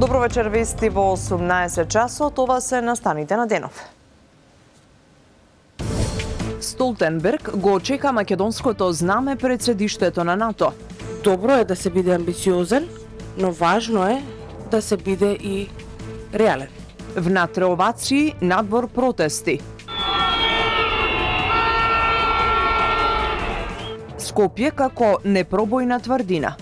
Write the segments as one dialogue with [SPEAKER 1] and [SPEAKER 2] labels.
[SPEAKER 1] Добро вечер, вести во 18 часот, ова се настаните на денов. Столтенберг го очека македонското знаме пред седиштето на НАТО.
[SPEAKER 2] Добро е да се биде амбициозен, но важно е да се биде и реален.
[SPEAKER 1] Внатре овации, надвор протести. Скопје како непробојна тврдина.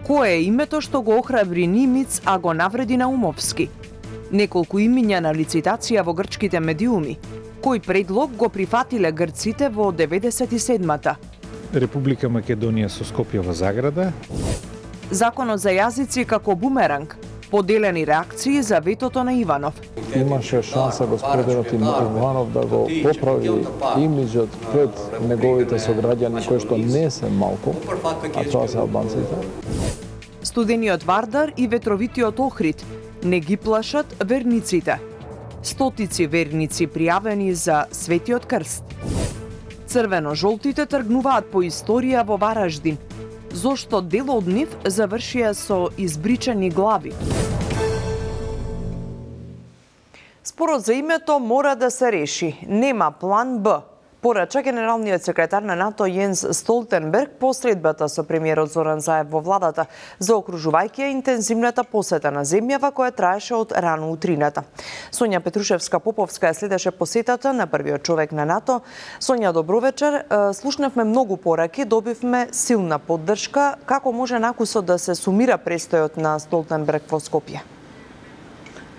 [SPEAKER 1] Кое е името што го охрабри Нимиц, а го навреди Наумовски? Неколку имиња на лицитација во грчките медиуми. Кој предлог го прифатиле грците во 97-та?
[SPEAKER 3] Република Македонија со Скопје во заграда.
[SPEAKER 1] Законот за јазици како бумеранг. Поделени реакции за ветото на Иванов.
[SPEAKER 4] Имаше шанса господинот Иванов да го поправи имиджот пред неговите сограѓани кои што не се малку, а тоа се албанците.
[SPEAKER 1] Студениот Вардар и ветровитиот Охрид не ги плашат верниците. Стотици верници пријавени за Светиот крст. Црвено-жолтите тргнуваат по историја во Вараждин. Зошто дел од нив завршија со избричани глави? Спорот за името мора да се реши. Нема план Б. Порача генералниот секретар на НАТО Јенс Столтенберг по средбата со премиерот Зоран Заев во владата, заокружувајќи ја интензивната посета на земјава која траеше од рано утрината. Сонја Петрушевска-Поповска следеше посетата на првиот човек на НАТО. Сонја, добро вечер. Слушнавме многу пораки, добивме силна поддршка. Како може накусот да се сумира престојот на Столтенберг во Скопје?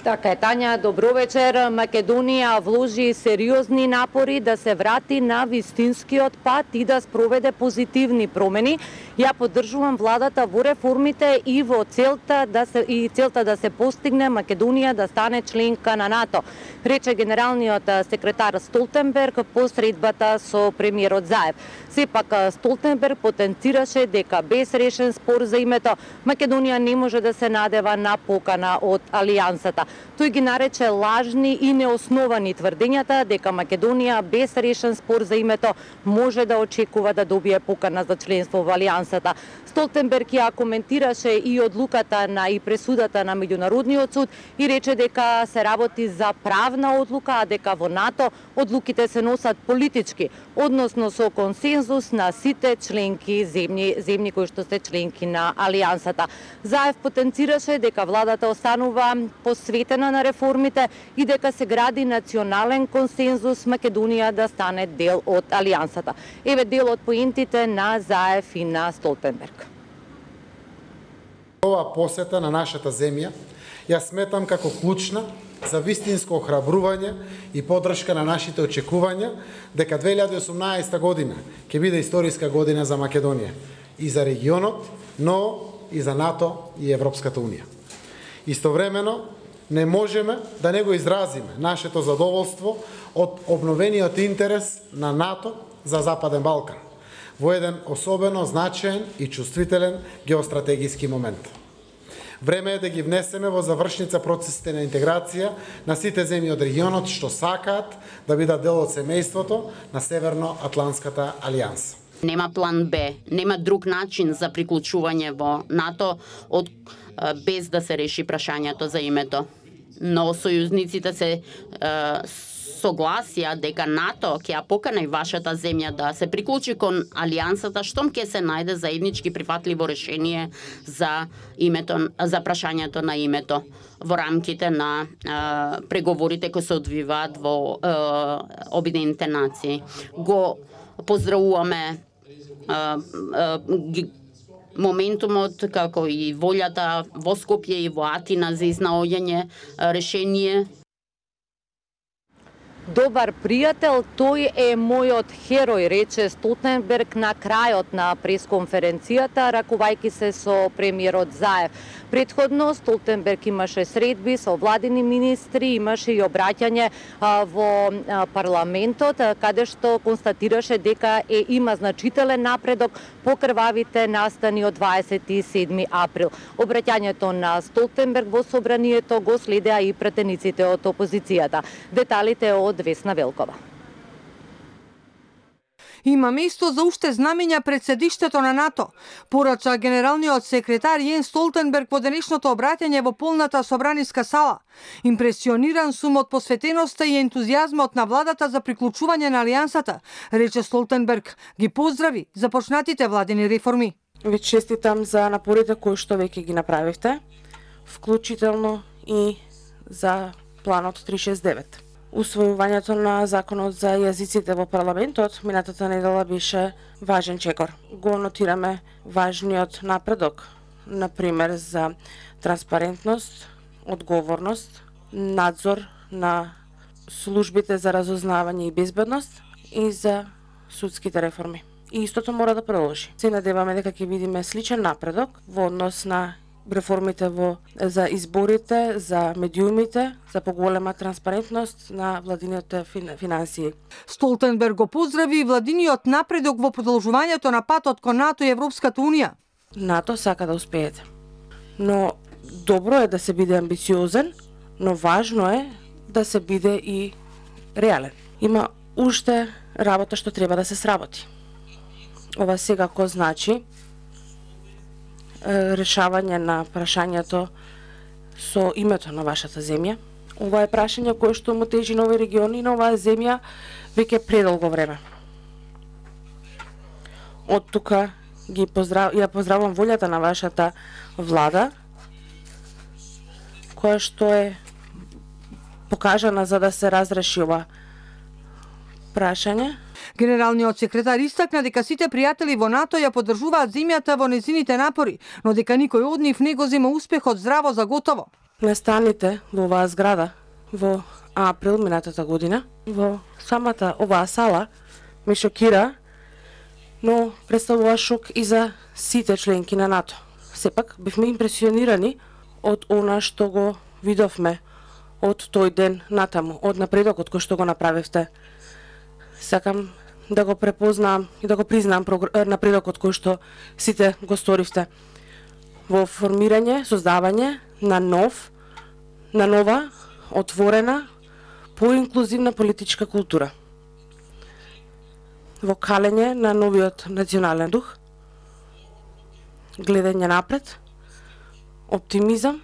[SPEAKER 5] Така е, Тања, добро вечер. Македонија вложи сериозни напори да се врати на вистинскиот пат и да спроведе позитивни промени. Ја поддржувам владата во реформите и во целта да се постигне Македонија да стане членка на НАТО, рече генералниот секретар Столтенберг по средбата со премиерот Заев. Сепак Столтенберг потенцираше дека без решен спор за името Македонија не може да се надева на покана од Алијансата. Тој ги нарече лажни и неосновани тврдењата дека Македонија без решен спор за името може да очекува да добие покана за членство во Алијансата. Столтенберг ја коментираше и одлуката и пресудата на Меѓународниот суд и рече дека се работи за правна одлука, а дека во НАТО одлуките се носат политички, односно со консензус на сите членки земји кои што се членки на Алијансата. Заев потенцираше дека владата останува посветена на реформите и дека се гради национален консензус Македонија да стане дел од Алијансата. Еве дел од поентите на Заев и на Столтенберг.
[SPEAKER 6] Ова посета на нашата земја ја сметам како клучна за вистинско охрабрување и поддршка на нашите очекувања дека 2018 година ќе биде историска година за Македонија и за регионот, но и за НАТО и Европската унија. Истовремено, не можеме да не го изразиме нашето задоволство од обновениот интерес на НАТО за Западен Балкан во еден особено значаен и чувствителен геостратегиски момент. Време е да ги внесеме во завршница процесите на интеграција на сите земји од регионот што сакаат да бидат дел од семејството на Северно-Атлантската алијанса.
[SPEAKER 7] Нема план Б, нема друг начин за приклучување во НАТО без да се реши прашањето за името. Но сојузниците се согласија дека НАТО ќе ја покани вашата земја да се приклучи кон Алијансата штом ќе се најде заеднички прифатливо решение за прашањето на името во рамките на преговорите кои се одвиваат во Обединените нации. Го поздравуваме моментумот како и волјата во Скопје и во Атина за изнаоѓање решение.
[SPEAKER 5] Добар пријател, тој е мојот херој, рече Столтенберг на крајот на пресконференцијата, ракувајќи се со премиерот Заев. Претходно Столтенберг имаше средби со владини министри, имаше и обраќање во парламентот, каде што констатираше дека има значителен напредок по крвавите настани од 27 април. Обраќањето на Столтенберг во собранието го следеа и пратениците од опозицијата. Деталите од Весна Велкова.
[SPEAKER 8] Има место за уште знамења пред седиштето на НАТО, порача генералниот секретар Јенс Столтенберг во денешното обраќање во полната собраниска сала. Импресиониран сум од посветеноста и ентузијазмот на владата за приклучување на алијансата, рече Столтенберг, ги поздрави започнатите владени реформи.
[SPEAKER 2] Ви честитам за напорите кои што веќе ги направивте, вклучително и за планот 369. Усвојувањето на законот за јазиците во парламентот минатата недела беше важен чекор. Го нотираме важниот напредок, например за транспарентност, одговорност, надзор на службите за разузнавање и безбедност и за судските реформи. И истото мора да продолжи. Се надеваме дека ќе видиме сличен напредок во однос на реформите за изборите, за медиумите, за поголема транспарентност на владините финансии.
[SPEAKER 8] Столтенберг го поздрави владиниот напредок во продолжувањето на патот кон НАТО и Европската Унија.
[SPEAKER 2] НАТО сака да успеете. Но добро е да се биде амбициозен, но важно е да се биде и реален. Има уште работа што треба да се сработи. Ова секако значи решавање на прашањето со името на вашата земја. Ова е прашање кое што му тежи на овој регион и на оваа земја веќе предолго време. Од тука ја поздравувам волјата на вашата влада, која што е покажана за да се разреши ова прашање.
[SPEAKER 8] Генералниот секретар истакна дека сите пријатели во НАТО ја поддржуваат земјата во незините напори, но дека никој од нив не го зема успехот здраво за готово.
[SPEAKER 2] Настаните во оваа зграда во април минатата година, во самата оваа сала, ме шокира, но представува шок и за сите членки на НАТО. Сепак, бевме импресионирани од она што го видовме од тој ден натаму, од напредокот кој што го направивте. Сакам да го препознам и да го признам напредокот кој што сите го сторивте во формирање, создавање на нова, отворена, поинклузивна политичка култура. Во калење на новиот национален дух, гледање напред, оптимизам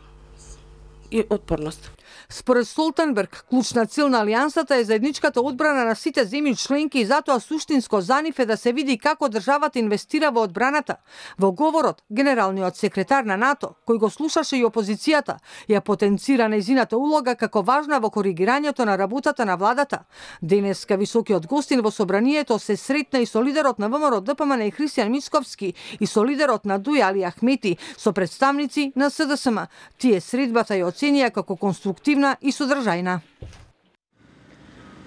[SPEAKER 2] и отпорност.
[SPEAKER 8] Според Столтенберг, клучна цел на алијансата е заедничката одбрана на сите земји членки и затоа суштинско за нив е да се види како државата инвестира во одбраната. Во говорот, генералниот секретар на НАТО, кој го слушаше и опозицијата, ја потенцира нејзината улога како важна во коригирањето на работата на владата. Денеска високиот гостин во собранието се сретна и со лидерот на ВМРО ДПМН и Христијан Мицковски и со лидерот на ДУИ Али Ахмети, со представници на СДСМ. Тие средбата ја оценија како конструктивна и содржајна.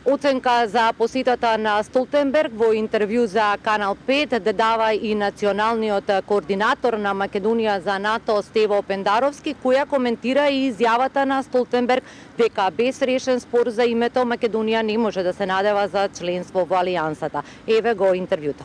[SPEAKER 5] Оценка за посетата на Столтенберг во интервју за Канал 5 дава и националниот координатор на Македонија за НАТО Стево Пендаровски, која коментира и изјавата на Столтенберг дека без решен спор за името Македонија не може да се надева за членство во алијансата. Еве го интервјуто.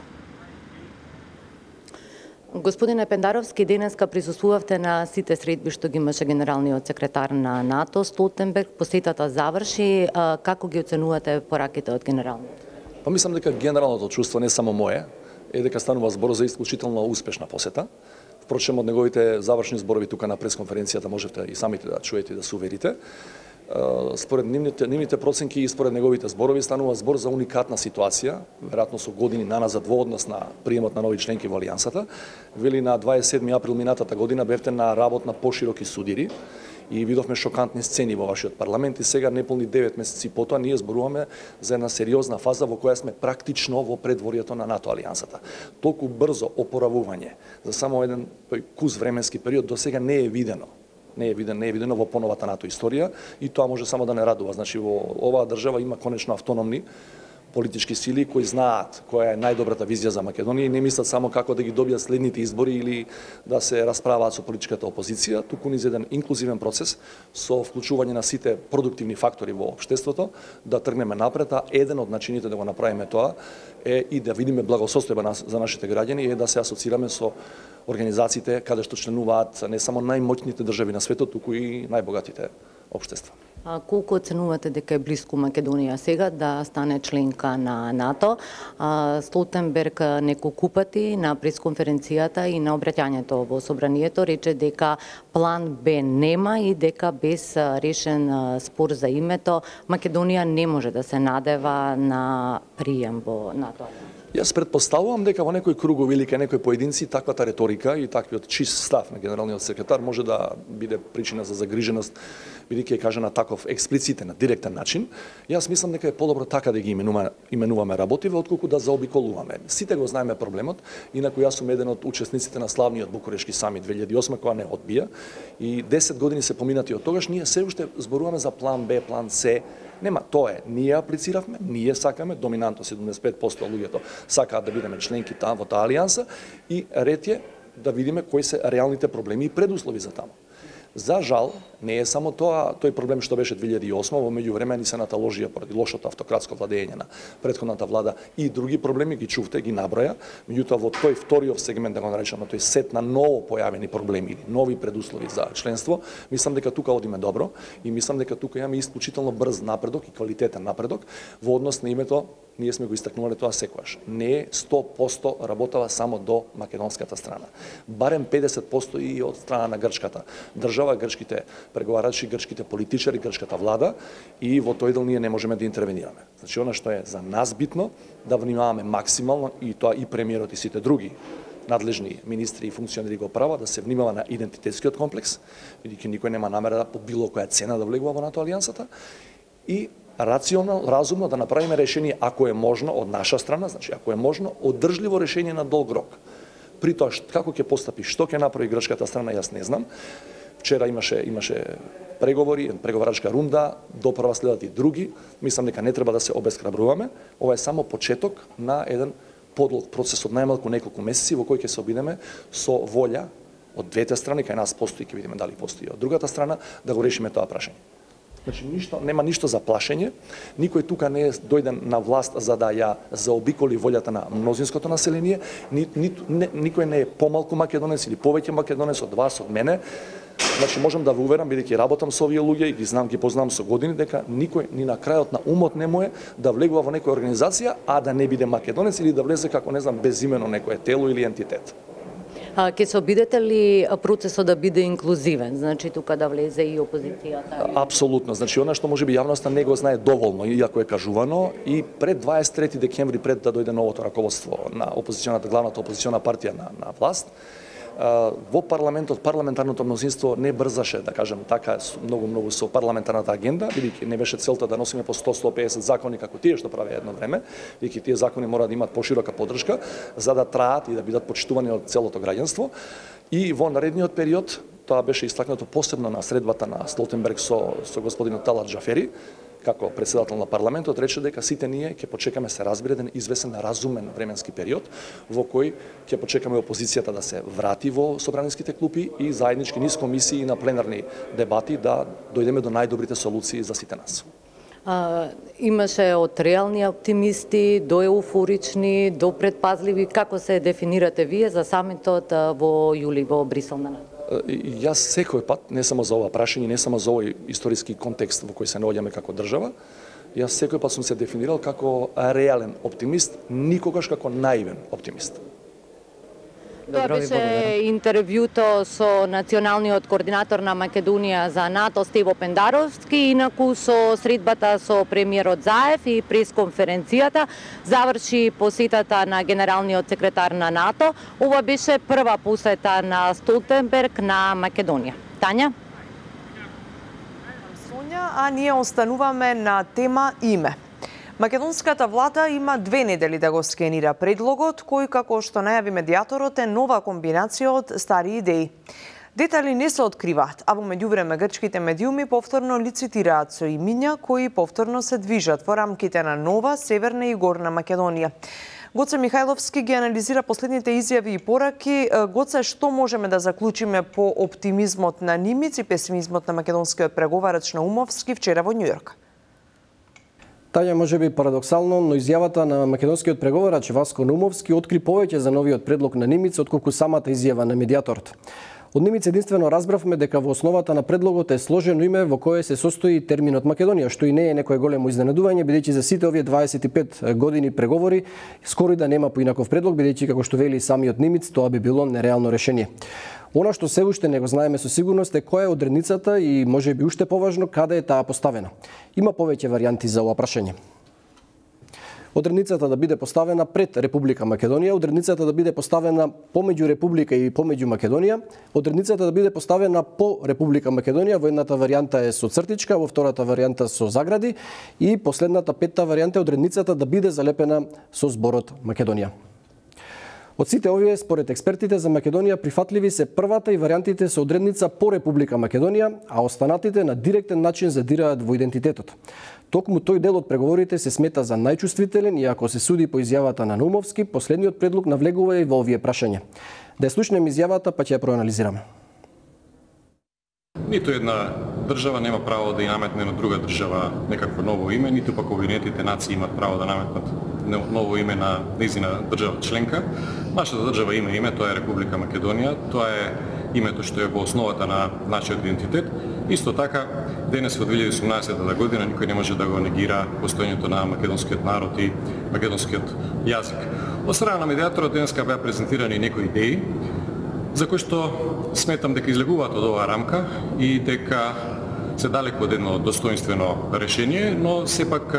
[SPEAKER 5] Господине Пендаровски, денеска присуствувавте на сите средби што ги имаше генералниот секретар на НАТО Столтенберг. Посетата заврши. Како ги оценувате пораките од генералниот?
[SPEAKER 9] Па мислам дека генералното чувство, не само мое, е дека станува збор за исклучително успешна посета. Впрочем, од неговите завршни зборови тука на пресконференцијата можете и самите да чуете и да се уверите. Според нивните проценки и според неговите зборови станува збор за уникатна ситуација, веројатно со години наназад во однос на приемот на нови членки во алијансата. Вели на 27 април минатата година бевте на работ на пошироки судири и видовме шокантни сцени во вашиот парламент и сега неполни 9 месеци потоа ние зборуваме за една сериозна фаза во која сме практично во предворието на НАТО алијансата. Толку брзо опоравување за само еден кус временски период до сега не е видено. Не е видено во поновата НАТО историја и тоа може само да не радува. Значи во оваа држава има конечно автономни политички сили кои знаат која е најдобрата визија за Македонија и не мислат само како да ги добијат следните избори или да се расправаат со политичката опозиција, туку низ еден инклузивен процес со вклучување на сите продуктивни фактори во општеството да тргнеме напред, а еден од начините да го направиме тоа е и да видиме благосостојба за нашите граѓани е да се асоцираме со организациите каде што членуваат не само најмоќните држави на светот, туку и најбогатите општество.
[SPEAKER 5] Колку оценувате дека е близко Македонија сега да стане членка на НАТО? Столтенберг неколку пати на пресконференцијата и на обраќањето во собранието рече дека план Б нема и дека без решен спор за името Македонија не може да се надева на прием во НАТО.
[SPEAKER 9] Јас претпоставувам дека во некои кругови или кај некои поединци таквата реторика и таквиот чист став на генералниот секретар може да биде причина за загриженост, бидејќи е кажа на таков експлицитен, на директен начин. Јас мислам дека е подобро така да ги именуваме работиве, отколку да заобиколуваме. Сите го знаеме проблемот, инаку јас сум еден од учесниците на славниот Букурешки самит 2008 која не одбија и 10 години се поминати од тогаш, ние се уште зборуваме за план Б, план С. Нема, тоа е. Ние аплициравме, ние сакаме, доминантно 75% луѓето сакаат да бидеме членки во таа алијанса и ред е да видиме кои се реалните проблеми и предуслови за таму. За жал, не е само тој проблем што беше 2008, во меѓувреме ни се наталожија поради лошото автократско владење на претходната влада и други проблеми, ги чувте, ги наброја, меѓутоа во тој вториот сегмент, да го наречеме, тој сет на ново појавени проблеми или нови предуслови за членство, мислам дека тука одиме добро и мислам дека тука имаме исклучително брз напредок и квалитетен напредок во однос на името. Ние сме го истакнувале тоа секогаш. Не е 100% работава само до македонската страна. Барем 50% и од страна на грчката држава, грчките преговарачи, грчките политичари, грчката влада и во тој дел ние не можеме да интервенираме. Значи, она што е за нас битно, да внимаваме максимално и тоа и премиерот и сите други надлежни министри и функционери го прават, да се внимава на идентитетскиот комплекс, бидејќи никој нема намера да по било која цена да влегува во НАТО алијансата и рационално, разумно да направиме решение ако е можно од наша страна, значи ако е можно одржливо решение на долг рок. При тоа како ќе постапи, што ќе направи грчката страна, јас не знам. Вчера имаше преговори, преговарачка рунда, доправа следат и други. Мислам дека не треба да се обесхрабруваме. Ова е само почеток на еден подлог процес од најмалку неколку месеци во кој ќе се обидеме со волја од двете страни, кај нас постои, ќе видиме дали постои од другата страна, да го решиме тоа прашање. Значи, нема ништо за плашење. Никој тука не е дојден на власт за да ја заобиколи волјата на мнозинското население. Никој не е помалку македонец или повеќе македонец од вас, од мене. Значи, можам да ве уверам, бидејќи работам со овие луѓе и ги познам со години, дека никој ни на крајот на умот не му е да влегува во некоја организација, а да не биде македонец или да влезе како, не знам, безимено некое тело или ентитет.
[SPEAKER 5] Ке се обидете ли процесот да биде инклузивен, значи тука да влезе и опозицијата?
[SPEAKER 9] Апсолутно, значи она што можеби јавноста не го знае доволно, иако е кажувано, и пред 23 декември, пред да дојде новото раководство на главната опозициона партија на власт, во парламентот, парламентарното мнозинство не брзаше, да кажем така, многу со парламентарната агенда, бидејќи не беше целта да носиме по 100-150 закони како тие што правеа едно време, бидејќи тие закони мора да имаат поширока поддршка за да траат и да бидат почитувани од целото граѓанство. И во наредниот период, тоа беше истакнато посебно на средбата на Столтенберг со господинот Талат Джафери, како председател на парламентот, рече дека сите ние ќе почекаме се разбере еден извесен разумен временски период во кој ќе почекаме опозицијата да се врати во собраниските клупи и заеднички низ комисии и на пленарни дебати да дојдеме до најдобрите солуции за сите нас.
[SPEAKER 5] Имаше од реални оптимисти до еуфорични, до предпазливи. Како се дефинирате вие за самитот во јули во Брисел на НАТО?
[SPEAKER 9] Јас секој пат, не само за ова прашање, не само за овој историски контекст во кој се наоѓаме како држава, јас секој пат сум се дефинирал како реален оптимист, никогаш како наивен оптимист.
[SPEAKER 5] Тоа беше интервјуто со националниот координатор на Македонија за НАТО Стево Пендаровски, инаку со средбата со премиерот Заев и пресконференцијата заврши посетата на генералниот секретар на НАТО. Ова беше прва посета на Столтенберг на Македонија. Тања?
[SPEAKER 1] Сонја, а ние остануваме на тема име. Македонската влада има 2 недели да го скенира предлогот, кој, како што најави медијаторот, е нова комбинација од стари идеи. Детали не се откриваат, а во меѓувреме грчките медиуми повторно лицитираат со имиња кои повторно се движат во рамките на нова Северна и Горна Македонија. Гоце Михајловски ги анализира последните изјави и пораки. Гоце, што можеме да заклучиме по оптимизмот на Нимиц и песимизмот на македонскиот преговарач Наумовски вчера во Њујорк?
[SPEAKER 10] Таја може би парадоксално, но изјавата на македонскиот преговарач Васко Наумовски откри повеќе за новиот предлог на Нимиц отколку самата изјава на медијаторот. Од Немиц единствено разбравме дека во основата на предлогот е сложено име во кое се состои терминот Македонија, што и не е некое големо изненадување, бидејќи за сите овие 25 години преговори скоро и да нема поинаков предлог, бидејќи како што вели самиот Немиц, тоа би било нереално решение. Она што се уште не го знаеме со сигурност е која е одредницата и можеби уште поважно каде е таа поставена. Има повеќе варијанти за ова прашање. Одредницата да биде поставена пред Република Македонија, одредницата да биде поставена помеѓу Република и помеѓу Македонија, одредницата да биде поставена по Република Македонија, во едната варијанта е со цртичка, во втората варијанта со загради и последната петта варијанта е одредницата да биде залепена со зборот Македонија. Од сите овие, според експертите за Македонија, прифатливи се првата и варијантите со одредница по Република Македонија, а останатите на директен начин задираат во идентитетот. Токму тој дел од преговорите се смета за најчувствителен и ако се суди по изјавата на Наумовски, последниот предлог навлегува и во овие прашања. Да ја слушнеме изјавата, па ќе ја проанализираме.
[SPEAKER 11] Ниту една држава нема право да ја наметне на друга држава некакво ново име, ниту пак Обединетите нации имаат право да наметнат ново име на нејзина држава членка. Нашата држава има име, тоа е Република Македонија, тоа е името што е во основата на нашиот идентитет. Исто така, денес во 2018 година никој не може да го негира постоењето на македонскиот народ и македонскиот јазик. Од страна на медиаторот денеска беа презентирани некои идеи за кои што сметам дека излегуваат од оваа рамка и дека се далеку од едно достоинствено решение, но сепак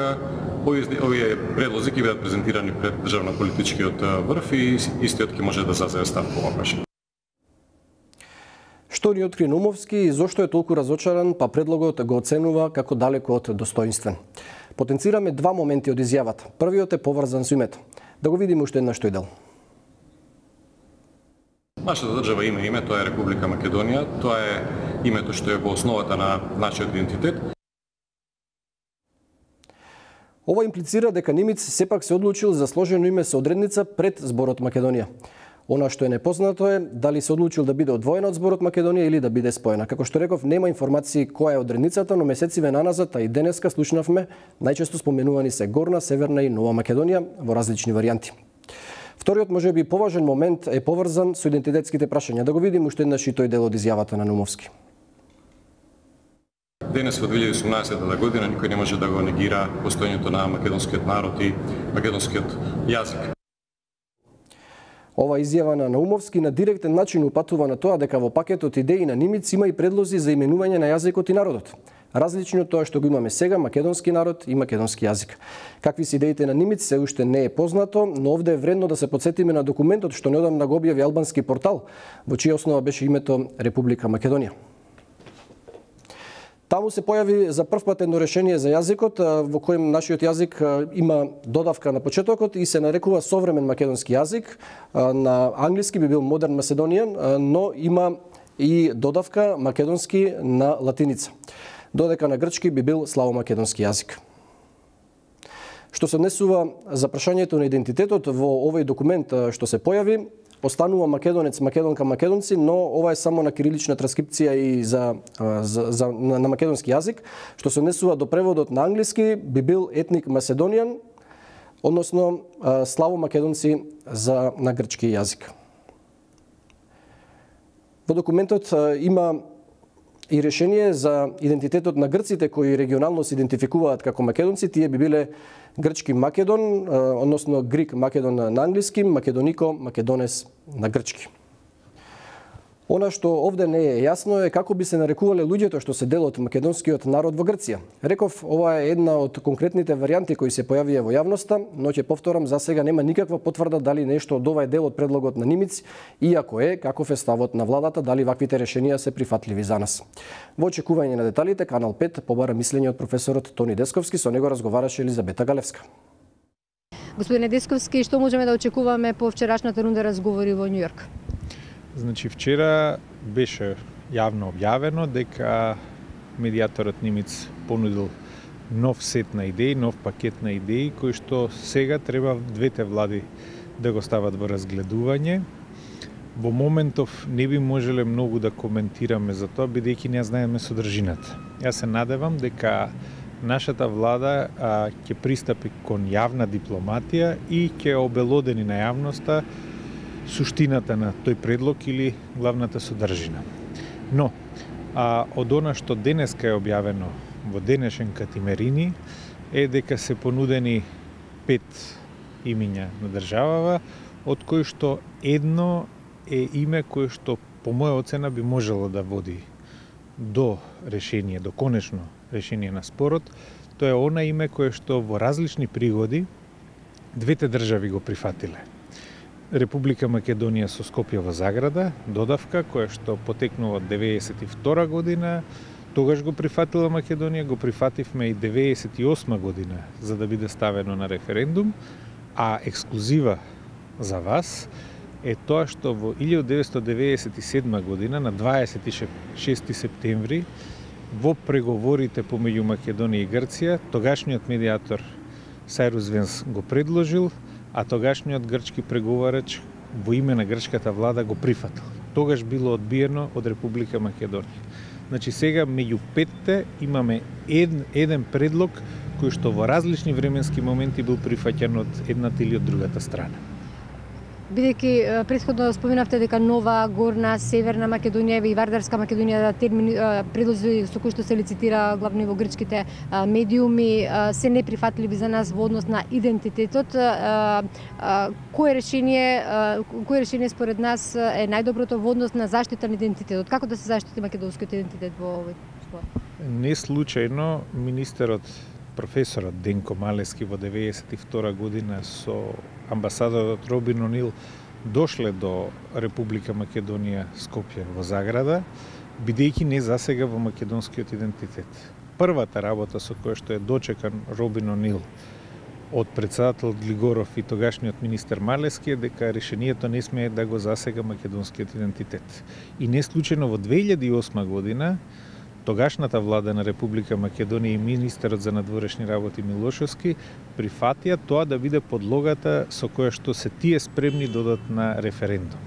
[SPEAKER 11] овие предлози ќе бидат презентирани пред државно-политичкиот врв и истиот ќе може да заземе став по оваа прашање.
[SPEAKER 10] Што ни откри Наумовски и зошто е толку разочаран, па предлогот го оценува како далеко од достоинствен. Потенцираме два моменти од изјавата. Првиот е поврзан со името. Да го видиме уште еднаш тој дел.
[SPEAKER 11] Нашата држава има име, тоа е Република Македонија, тоа е името што е во основата на нашиот идентитет.
[SPEAKER 10] Ова имплицира дека Немиц сепак се одлучил за сложено име со одредница пред зборот Македонија. Она што е непознато е дали се одлучил да биде одвоена од зборот Македонија или да биде споена. Како што реков, нема информации која е одредницата, но месециве наназад, а и денеска слушнавме, најчесто споменувани се Горна, Северна и Нова Македонија во различни варијанти. Вториот можеби поважен момент е поврзан со идентитетските прашања. Да го видиме уште еднаш и тој дел од изјавата на Наумовски.
[SPEAKER 11] Денес во 2018 година никој не може да го негира постоењето на македонскиот народ и македонскиот јазик.
[SPEAKER 10] Ова изјава на Наумовски на директен начин упатува на тоа дека во пакетот идеи на Немиц има и предлози за именување на јазикот и народот. Различно од тоа што го имаме сега, македонски народ и македонски јазик. Какви се идеите на Немиц се уште не е познато, но овде е вредно да се потсетиме на документот што неодамна го објави албански портал, во чија основа беше името Република Македонија. Таму се појави за прв пат едно решение за јазикот, во кој нашиот јазик има додавка на почетокот и се нарекува современ македонски јазик. На англиски би бил Modern Macedonian, но има и додавка македонски на латиница. Додека на грчки би бил славомакедонски јазик. Што се однесува за прашањето на идентитетот во овој документ што се појави, останува македонец, македонка, македонци, но ова е само на кирилична транскрипција и на македонски јазик. Што се однесува до преводот на англиски, би бил етник Macedonian, односно славомакедонци на грчки јазик. Во документот има и решение за идентитетот на грците кои регионално се идентификуваат како македонци, тие би биле грчки Македон, односно Грик Македон на англиски, Македонико, Македонес на грчки. Она што овде не е јасно е како би се нарекувале луѓето што се дел од македонскиот народ во Грција. Реков, ова е една од конкретните варијанти кои се појавија во јавноста, но ќе повторам, за сега нема никаква потврда дали нешто од ова е дел од предлогот на Немиц, иако е, каков е ставот на владата, дали ваквите решенија се прифатливи за нас. Во очекување на деталите, Канал 5 побара мислење од професорот Тони Десковски, со него разговараше Елизабета Галевска.
[SPEAKER 12] Господине Десковски, што можеме да очекуваме по вчерашната рунда разговори во Њујорк?
[SPEAKER 3] Значи, вчера беше јавно објавено дека медиаторот Немиц понудил нов сет на идеи, нов пакет на идеи, кои што сега треба двете влади да го стават во разгледување. Во моментов не би можеле многу да коментираме за тоа, бидејќи не знаеме содржината. Јас се надевам дека нашата влада ќе пристапи кон јавна дипломатија и ќе обелодени на јавноста суштината на тој предлог или главната содржина. Но, од она што денеска е објавено во денешен Катимерини е дека се понудени 5 имиња на државава, од кои што едно е име кое што по моја оцена би можело да води до решение, до конечно решение на спорот. Тоа е она име кое што во различни пригоди двете држави го прифатиле. Република Македонија со Скопје во заграда, додавка која што потекнува од 92 година, тогаш го прифатила Македонија, го прифативме и 98 година за да биде ставено на референдум, а ексклузива за вас е тоа што во 1997 година на 26 септември во преговорите помеѓу Македонија и Грција, тогашниот медиатор Сайрус Венс го предложил, а тогашниот грчки преговарач во име на грчката влада го прифатил. Тогаш било одбиено од Република Македонија. Значи сега меѓу петте имаме еден предлог кој што во различни временски моменти бил прифаќан од едната или од другата страна.
[SPEAKER 12] Бидејќи претходно споменавте дека Нова, Горна, Северна Македонија и Вардарска Македонија термини предлози со кои што се лицитира главно во грчките медиуми се неприфатливи за нас во однос на идентитетот. Кое решение според нас е најдоброто во однос на заштита на идентитетот? Како да се заштити македонскиот идентитет во овој спор?
[SPEAKER 3] Не случајно министерот професорот Денко Малески во 92 година со амбасадорот Робин Онил дошле до Република Македонија Скопје во заграда, бидејќи не засега во македонскиот идентитет. Првата работа со која што е дочекан Робин Онил од председател Глигоров и тогашниот министер Малески е дека решението не смее да го засега македонскиот идентитет. И не случајно во 2008 година тогашната влада на Република Македонија и министерот за надворешни работи Милошевски прифатија тоа да биде подлогата со која што се тие спремни додат на референдум.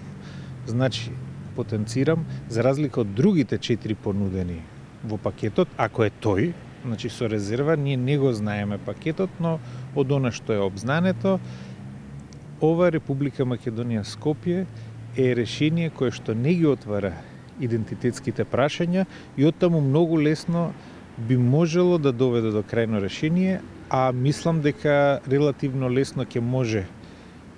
[SPEAKER 3] Значи, потенцирам, за разлика од другите 4 понудени во пакетот, ако е тој, значи со резерва, ние не го знаеме пакетот, но од она што е обзнането, ова Република Македонија Скопје е решение кое што не ги отвара идентитетските прашања и оттаму многу лесно би можело да доведе до крајно решение, а мислам дека релативно лесно ќе може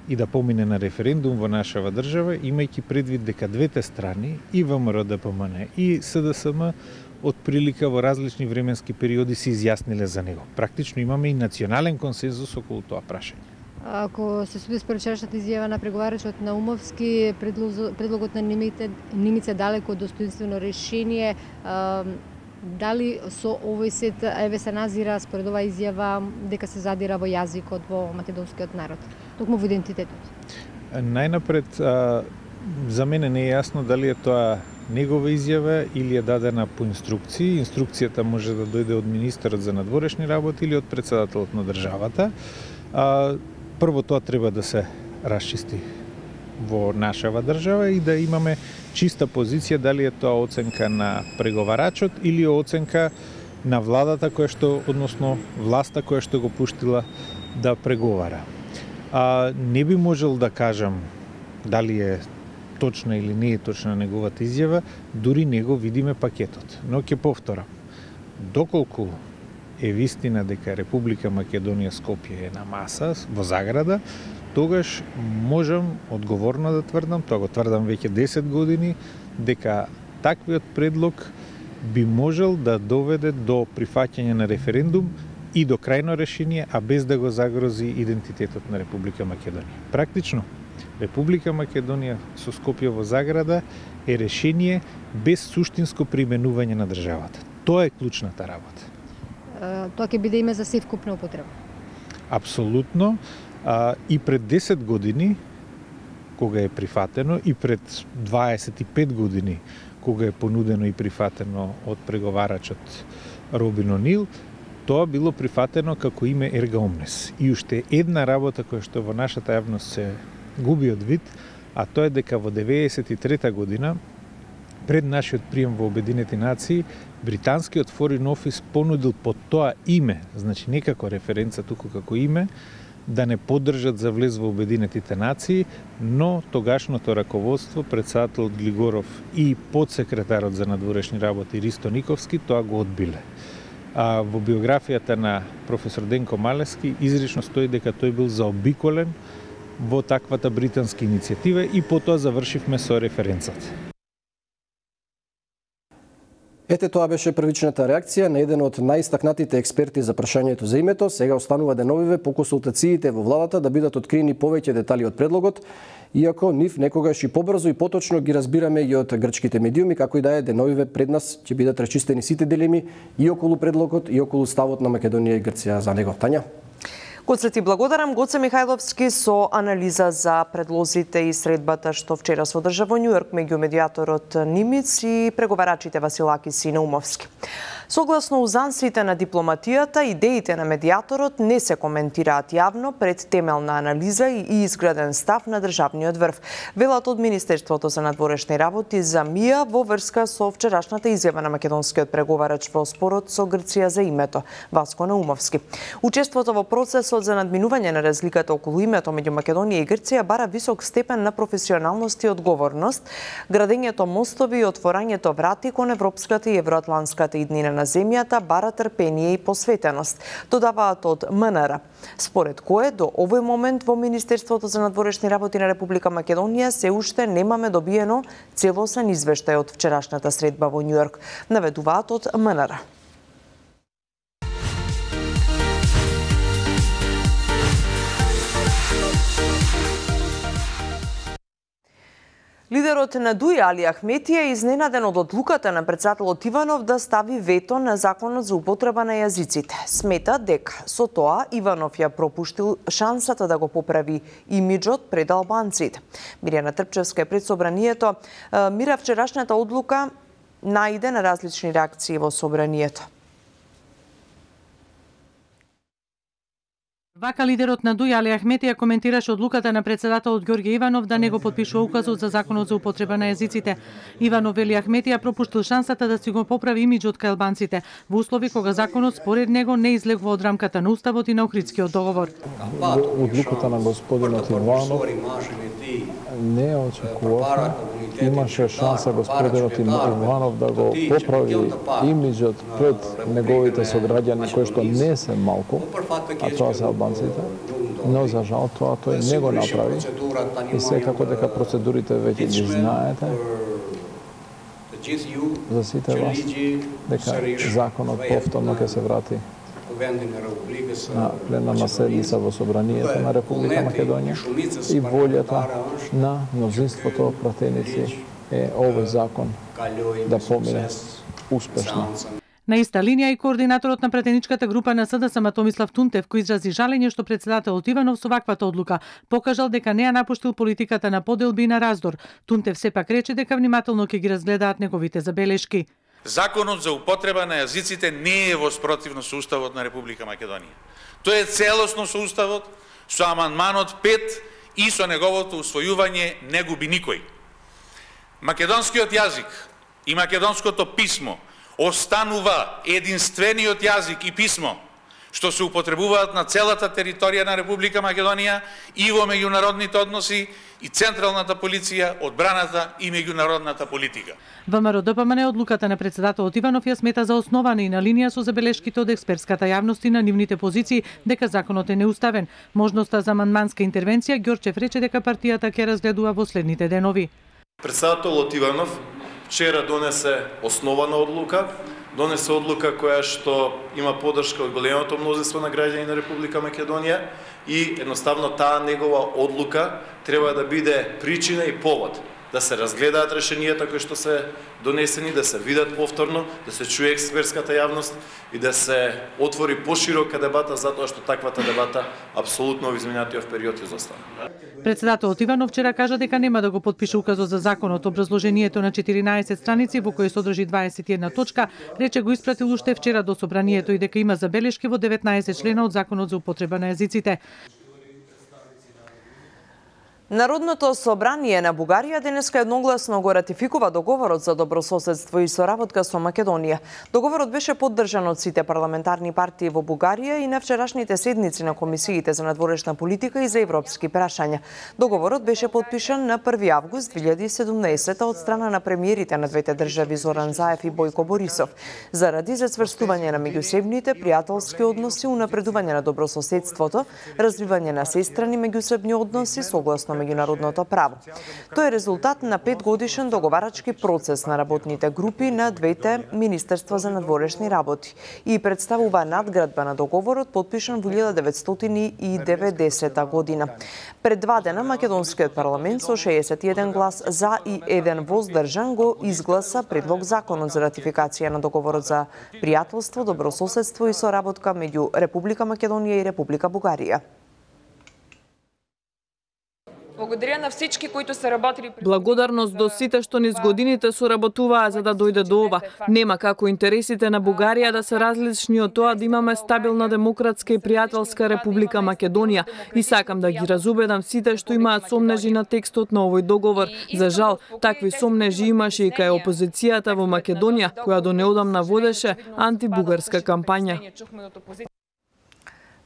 [SPEAKER 3] и да помине на референдум во нашава држава, имајќи предвид дека двете страни, и ВМРО ДПМН и СДСМ, од прилика во различни временски периоди се изјасниле за него. Практично имаме и национален консензус околу тоа прашање.
[SPEAKER 12] Ако се суди според вчерашната изјава на преговарачот Наумовски, предлогот на Нимица далеко од достоинствено решение, дали со овој сет еве се назира според оваа изјава дека се задира во јазикот во македонскиот народ, токму во идентитетот?
[SPEAKER 3] Најнапред, за мене не е јасно дали е тоа негова изјава или е дадена по инструкции. Инструкцијата може да дојде од министерот за надворешни работи или од председателот на државата. Прво тоа треба да се расчисти во нашава држава и да имаме чиста позиција дали е тоа оценка на преговарачот или оценка на владата која што, односно власта која што го пуштила да преговара. Не би можел да кажам дали е точна или не е точна неговата изјава, дури не го видиме пакетот. Но ќе повторам, доколку е вистина дека Република Македонија Скопје е на маса во заграда, тогаш можам одговорно да тврдам, тоа го тврдам веќе 10 години, дека таквиот предлог би можел да доведе до прифаќање на референдум и до крајно решение, а без да го загрози идентитетот на Република Македонија. Практично, Република Македонија со Скопје во заграда е решение без суштинско применување на државата. Тоа е клучната работа.
[SPEAKER 12] Тоа ќе биде име за севкупна употреба?
[SPEAKER 3] Апсолутно. И пред 10 години, кога е прифатено, и пред 25 години, кога е понудено и прифатено од преговарачот Робин Онил, тоа било прифатено како име Ерга Омнес. И уште една работа која што во нашата јавност се губи од вид, а тоа е дека во 93 година, пред нашиот прием во Обединети нации, британскиот Foreign Office понудил под тоа име, значи не како референца, туку како име, да не поддржат за влез во Обединетите нации, но тогашното раководство, председател Глигоров и подсекретарот за надворешни работи Ристо Никовски тоа го одбиле. А во биографијата на професор Денко Малески изрично стои дека тој бил заобиколен во таквата британска иницијатива и потоа завршивме со референцата.
[SPEAKER 10] Ете, тоа беше првичната реакција на еден од најистакнатите експерти за прашањето за името. Сега останува деновиве по консултациите во владата да бидат откриени повеќе детали од предлогот, иако нив некогаш и побрзо и поточно ги разбираме и од грчките медиуми, како и да е деновиве пред нас ќе бидат рачистени сите дилеми и околу предлогот и околу ставот на Македонија и Грција за него. Тања?
[SPEAKER 1] Гоце ти благодарам, Гоце Михајловски со анализа за предлозите и средбата што вчера се одржа во Њујорк меѓу медијаторот Нимиц и преговарачите Василакис и Наумовски. Согласно узансите на дипломатијата, идеите на медијаторот не се коментираат јавно пред темелна анализа и изграден став на државниот врв. Велат од Министерството за надворешни работи за МИА во врска со вчерашната изјава на македонскиот преговарач во спорот со Грција за името, Васко Наумовски. Учеството во процесот за надминување на разликата околу името меѓу Македонија и Грција бара висок степен на професионалност и одговорност, градењето мостови и отворањето врати кон европската и евроатланската иднина на земјата бара трпение и посветеност, додаваат од МНР. Според кое до овој момент во Министерството за надворешни работи на Република Македонија се уште немаме добиено целосен извештај од вчерашната средба во Њујорк, наведуваат од МНР. Лидерот на ДУИ Али Ахмети е изненаден од одлуката на председателот Иванов да стави вето на законот за употреба на јазиците. Смета дека со тоа Иванов ја пропуштил шансата да го поправи имиджот пред албанците. Мирјана Трпчевска е пред собранието. Мира, вчерашната одлука најде на различни реакции во собранието.
[SPEAKER 13] Вака лидерот на ДУИ Али Ахмети ја коментираше одлуката на председателот Ѓорѓе Иванов да не го потпишува указот за законот за употреба на јазиците. Иванов вели Ахмети ја пропуштил шансата да си го поправи имиджот кај албанците во услови кога законот според него не излегува од рамката на уставот и на Охридскиот договор.
[SPEAKER 4] Одлуката на господинот Иванов не очекувавме. Имаше шанса господинот Иванов да го поправи имиджот пред неговите сограѓани кои што не се малку, а тоа се албанците, но за жал тоа тој не го направи и секако дека процедурите веќе ги знаете за сите вас, дека законот повторно ќе се врати на пленарна седница во собранието на Република Македонија и волјата на мнозинството пратеници е овој закон да помине успешно.
[SPEAKER 13] На иста линија и координаторот на пратеничката група на СДСМ Томислав Тунтев, кој изрази жалење што председателот Иванов со ваквата одлука покажал дека не ја напуштил политиката на поделби и на раздор. Тунтев сепак рече дека внимателно ќе ги разгледаат неговите забелешки.
[SPEAKER 14] Законот за употреба на јазиците не е во спротивно со Уставот на Република Македонија. Тој е целосно со Уставот, со амандманот 5 и со неговото усвојување не губи никој. Македонскиот јазик и македонското писмо останува единствениот јазик и писмо што се употребуваат на целата територија на Република Македонија и во меѓународните односи и централната полиција, одбраната и меѓународната политика.
[SPEAKER 13] ВМРО ДПМН одлуката на председателот Иванов ја смета за основана и на линија со забелешките од експертската јавност и на нивните позиции дека законот е неуставен. Можноста за амандманска интервенција Ѓорчев рече дека партијата ќе разгледува во следните денови.
[SPEAKER 15] Председателот Иванов вчера донесе основана одлука, донесе одлука која што има поддршка од големото мнозинство на граѓани на Република Македонија и едноставно таа негова одлука треба да биде причина и повод да се разгледаат решенијата кои што се донесени, да се видат повторно, да се чуе експертската јавност и да се отвори поширока дебата затоа што таквата дебата апсолутно во изминатиот период изостана.
[SPEAKER 13] Председателот Иванов вчера кажа дека нема да го потпише указот за законот. Образложението на 14 страници во кој содржи 21 точка, рече го испратил уште вчера до собранието и дека има забелешки во 19 члена од законот за употреба на јазиците.
[SPEAKER 1] Народното собрание на Бугарија денеска едногласно го ратификува договорот за добрососедство и соработка со Македонија. Договорот беше поддржан од сите парламентарни партии во Бугарија и на вчерашните седници на комисиите за надворешна политика и за европски прашања. Договорот беше подпишан на 1 август 2017 од страна на премиерите на двете држави Зоран Заев и Бојко Борисов, заради зацврстување на меѓусебните пријателски односи, унапредување на добрососедството, развивање на сестрани меѓусебни односи согласно меѓународното право. Тој е резултат на 5-годишен договарачки процес на работните групи на двете министерства за надворешни работи и представува надградба на договорот подпишан во 1990 година. Пред 2 дена македонскиот парламент со 61 глас за и 1 воздржан го изгласа предлог законот за ратификација на договорот за пријателство, добрососедство и соработка меѓу Република Македонија и Република Бугарија.
[SPEAKER 16] Благодаря на всички кои се работили.
[SPEAKER 17] Благодарност до сите што низ годините соработуваа за да дојде до ова. Нема како интересите на Бугарија да се различни од тоа да имаме стабилна демократска и пријателска Република Македонија. И сакам да ги разубедам сите што имаат сомнежи на текстот на овој договор. За жал, такви сомнежи имаше и кај опозицијата во Македонија, која до неодамна водеше антибугарска кампања.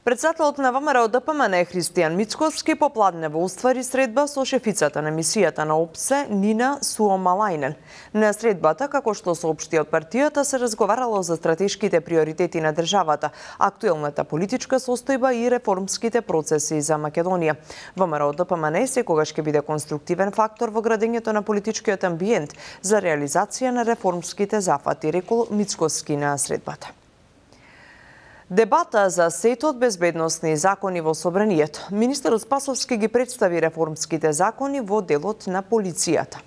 [SPEAKER 1] Председателот на ВМРО ДПМН Христијан Мицкоски попладнево уствари средба со шефицата на мисијата на ОПСЕ Нина Суомалајнен. На средбата, како што соопшти од партијата, се разговарало за стратешките приоритети на државата, актуелната политичка состојба и реформските процеси за Македонија. ВМРО ДПМН секогаш ќе биде конструктивен фактор во градењето на политичкиот амбиент за реализација на реформските зафати, рекол Мицкоски на средбата. Дебата за сетот безбедносни закони во Собранието. Министерот Спасовски ги представи реформските закони во делот на полицијата.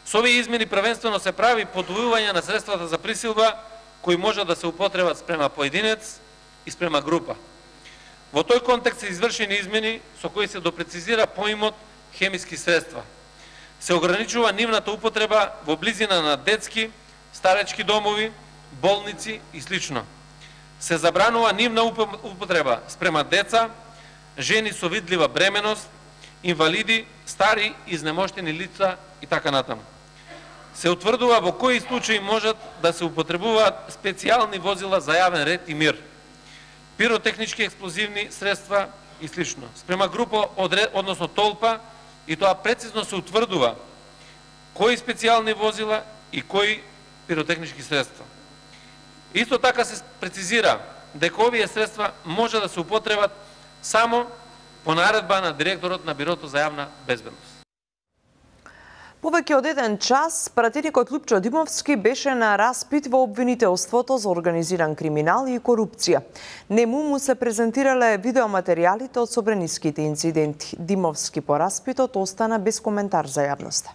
[SPEAKER 18] Со овие измени првенствено се прави подвојување на средствата за присилба кои може да се употребат спрема поединец и спрема група. Во тој контекст се извршени измени со кои се допрецизира поимот хемиски средства. Се ограничува нивната употреба во близина на детски, старечки домови, болници и слично. Се забранува нивна употреба спрема деца, жени со видлива бременост, инвалиди, стари, изнемоштени лица и така натаму. Се утврдува во кои случаи можат да се употребуваат специјални возила за јавен ред и мир, пиротехнички експлозивни средства и слично. Спрема група, односно толпа, и тоа прецизно се утврдува кои специјални возила и кои пиротехнички средства. Исто така се прецизира дека овие средства може да се употребат само по наредба на директорот на Бирото за јавна безбедност.
[SPEAKER 1] Повеќе од 1 час, пратеникот Лупчо Димовски беше на распит во обвинителството за организиран криминал и корупција. Нему му се презентирале видеоматеријалите од собраниските инциденти. Димовски по распитот остана без коментар за јавноста.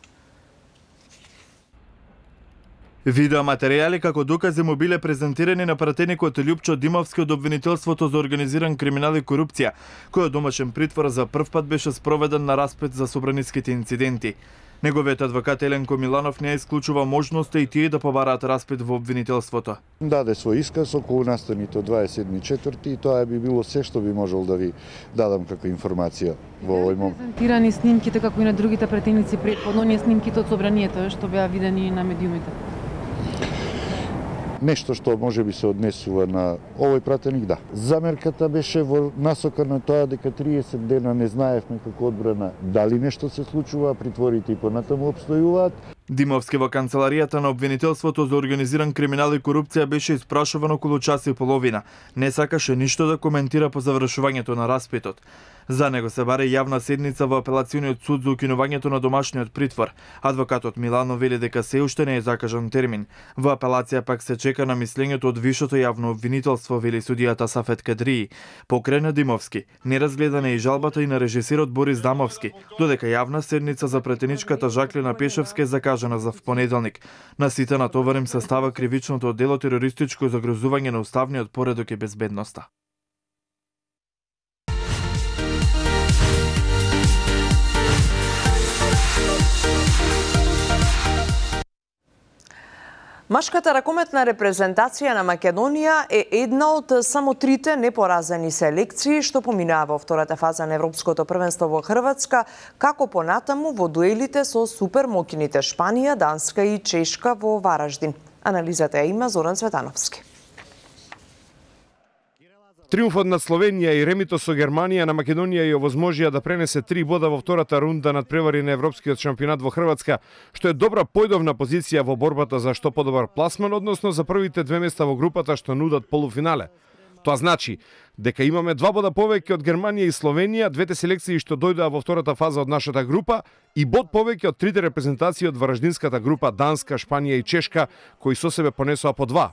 [SPEAKER 19] Видеоматеријали како докази му биле презентирани на пратеникот Лупчо Димовски од обвинителството за организиран криминал и корупција, кој од домашен притвор за прв пат беше спроведен на распит за собраниските инциденти. Неговиот адвокат Еленко Миланов не исклучува можноста и тие да побараат распит во обвинителството.
[SPEAKER 20] Даде свој исказ околу настаните од 27.4 и тоа би било се што би можел да ви дадам како информација во овој момент.
[SPEAKER 21] Презентирани снимките како и на другите пратеници претходно, оние снимките од собранието што беа видени на медиумите.
[SPEAKER 20] Нешто што може би се однесува на овој пратеник, да. Замерката беше во насока на тоа дека 30 дена не знаевме како одбрана дали нешто се случува, притворите и понатаму обстојуваат.
[SPEAKER 19] Димовски во канцеларијата на обвинителството за организиран криминал и корупција беше испрашуван околу час и половина. Не сакаше ништо да коментира по завршувањето на распитот. За него се баре јавна седница во апелацијниот суд за укинувањето на домашниот притвор. Адвокатот Милано вели дека се уште не е закажан термин. Во апелација пак се чека на мислењето од вишото јавно обвинителство, вели судијата Сафет Кадрии. Покрај на Димовски, неразгледана е и жалбата и на режисерот Борис Дамовски, додека јавна седница за претеничката Жаклина Пешевска е закажана за понеделник. На сите натоварим се става кривичното дело терористичко загрозување на уставниот поредок и безбедноста.
[SPEAKER 1] Машката ракометна репрезентација на Македонија е една од само трите непоразени селекции што поминаа во втората фаза на Европското првенство во Хрватска, како понатаму во дуелите со супермокините Шпанија, Данска и Чешка во Вараждин. Анализата ја има Зоран Цветановски.
[SPEAKER 6] Триумфот над Словенија и ремито со Германија на Македонија ја овозможија да пренесе 3 бода во втората рунда над превари на Европскиот шампионат во Хрватска, што е добра појдовна позиција во борбата за што подобар пласман, односно за првите 2 места во групата што нудат полуфинале. Тоа значи дека имаме 2 бода повеќе од Германија и Словенија, двете селекции што дојдоа во втората фаза од нашата група, и бод повеќе од трите репрезентации од вараждинската група Данска, Шпанија и Чешка, кои со себе понесоа по 2.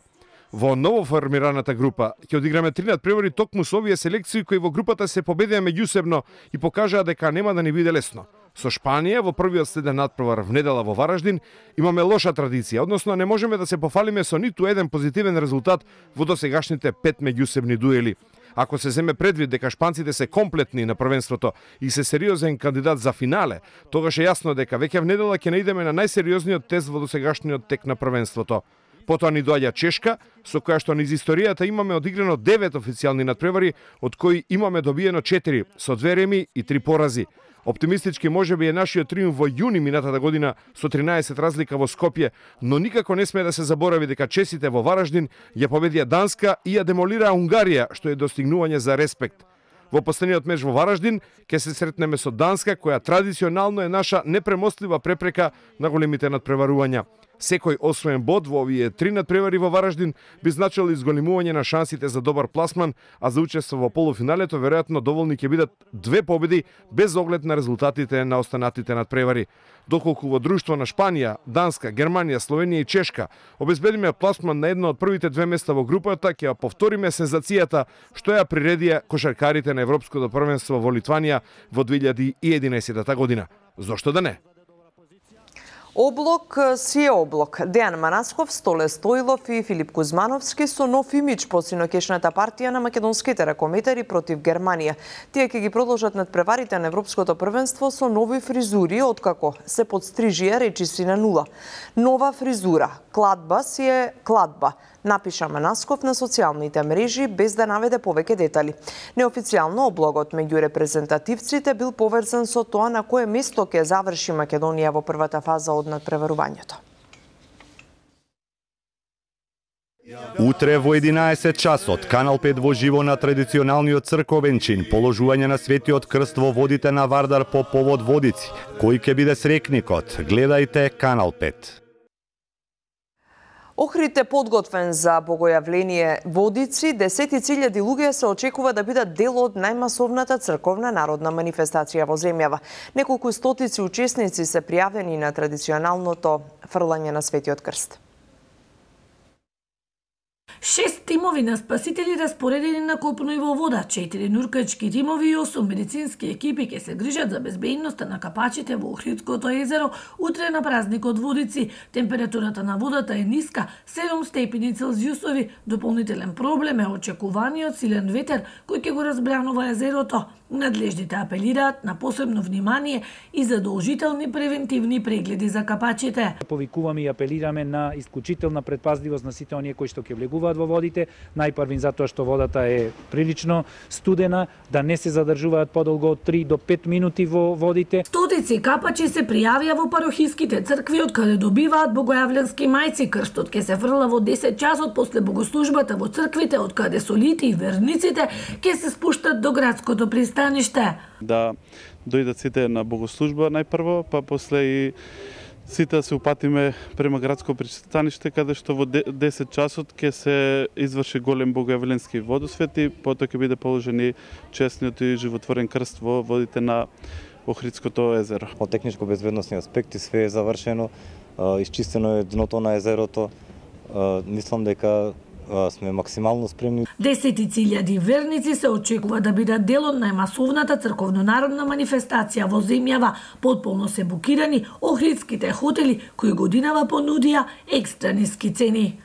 [SPEAKER 6] Во ново формираната група ќе одиграме 3 надпревари токму со овие селекции кои во групата се победија меѓусебно и покажаа дека нема да ни биде лесно. Со Шпанија во првиот следен надпревар внедела во Вараждин имаме лоша традиција, односно не можеме да се пофалиме со ниту еден позитивен резултат во досегашните 5 меѓусебни дуели. Ако се земе предвид дека шпанците се комплетни на првенството и се сериозен кандидат за финале, тогаш е јасно дека веќе внедела ќе наидеме на најсериозниот тест во досегашниот тек на првенството. Потоа ни доаѓа Чешка, со која што низ историјата имаме одиграно 9 официјални надпревари, од кои имаме добиено 4 со 2 реми и 3 порази. Оптимистички можеби е нашиот триумф во јуни минатата година со 13 разлика во Скопје, но никако не сме да се заборави дека чесите во Вараждин ја победија Данска и ја демолираа Унгарија, што е достигнување за респект. Во последниот меч во Вараждин ќе се сретнеме со Данска, која традиционално е наша непремостлива препрека на големите надпреварувања. Секој освоен бод во овие 3 надпревари во Вараждин би значило изголемување на шансите за добар пласман, а за учество во полуфиналето веројатно доволни ќе бидат 2 победи без оглед на резултатите на останатите надпревари. Доколку во друштво на Шпанија, Данска, Германија, Словенија и Чешка обезбедиме пласман на едно од првите 2 места во групата, ќе ја повториме сензацијата што ја приредија кошаркарите на Европското првенство во Литванија во 2011 година. Зошто да не?
[SPEAKER 1] Облок си е облок. Дејан Манасков, Столе Стоилов и Филип Кузмановски со нов имидж по синокешната партија на македонските ракометари против Германија. Тие ќе ги продолжат надпреварите на Европското првенство со нови фризури, откако се подстрижија речиси на нула. Нова фризура. Кладба си е кладба, напиша Манасков на социјалните мрежи без да наведе повеќе детали. Неофицијално облогот меѓу репрезентативците бил поврзан со тоа на кое место ќе заврши Македонија во првата фаза од надпреварувањето.
[SPEAKER 22] Утре во 11 часот, Канал 5 во живо на традиционалниот црковен чин, положување на Светиот крст во водите на Вардар по повод Водици. Кој ќе биде срекникот? Гледајте Канал 5.
[SPEAKER 1] Охрид е подготвен за богојавление Водици. 10.000 луѓе се очекува да бидат дел од најмасовната црковна народна манифестација во земјава. Неколку стотици учесници се пријавени на традиционалното фрлање на Светиот крст.
[SPEAKER 23] 6 тимови на спасители распоредени на копно и во вода, 4 нуркачки тимови и 8 медицински екипи ќе се грижат за безбедноста на капачите во Охридското езеро утре на празникот Водици. Температурата на водата е ниска, 7 степени Целзиусови. Дополнителен проблем е очекуваниот силен ветер кој ќе го разбранува езерото. Надлежните апелираат на посебно внимание и задолжителни превентивни прегледи за капачите.
[SPEAKER 24] Повикуваме и апелираме на исклучителна предпазливост на сите оние кои што ќе влегуваат во водите, најпрвин затоа што водата е прилично студена, да не се задржуваат подолго од 3 до 5 минути во водите.
[SPEAKER 23] Стотици капачи се пријавија во парохиските цркви од каде добиваат богојавленски мајци. Крстот ќе се фрла во 10 часот после богослужбата во црквите, од каде солите и верниците ќе се спуштат до градското пристаниште.
[SPEAKER 25] Да дојдат сите на богослужба најпрво, па после и сите се упатиме према градско пристаниште, каде што во 10 часот ќе се изврши голем богојавленски водосвет и потоа ќе биде положени честниот и животворен крст во водите на Охридското езеро.
[SPEAKER 26] Од техничко безбедносни аспекти све е завршено, исчистено е дното на езерото. Мислам дека сме максимално спремни.
[SPEAKER 23] 10.000 верници се очекува да бидат дел од најмасовната црковно-народна манифестација во земјава. Потполно се букирани охридските хотели кои годинава понудија екстра ниски цени.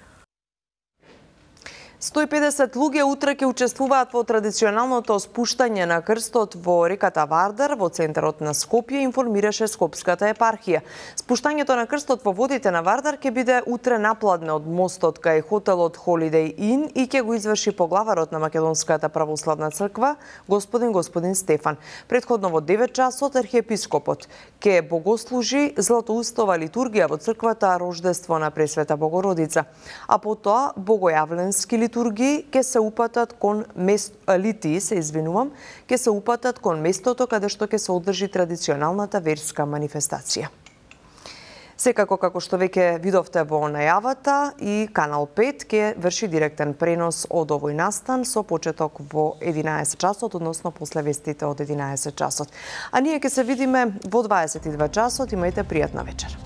[SPEAKER 1] 150 луѓе утре ќе учествуваат во традиционалното спуштање на крстот во реката Вардар во центарот на Скопје, информираше Скопската епархија. Спуштањето на крстот во водите на Вардар ќе биде утре напладне од мостот кај хотелот Holiday Inn и ќе го изврши поглаварот на Македонската православна црква, господин Стефан. Претходно во 9 часот архиепископот ќе богослужи златоустова литургија во црквата Рождество на Пресвета Богородица, а потоа богојавленски литургии ќе се упатат кон ќе се упатат кон местото каде што ќе се одржи традиционалната верска манифестација. Секако, како што веќе видовте во најавата, и Канал 5 ќе врши директен пренос од овој настан со почеток во 11 часот, односно после вестите од 11 часот. А ние ќе се видиме во 22 часот. Имајте пријатна вечер.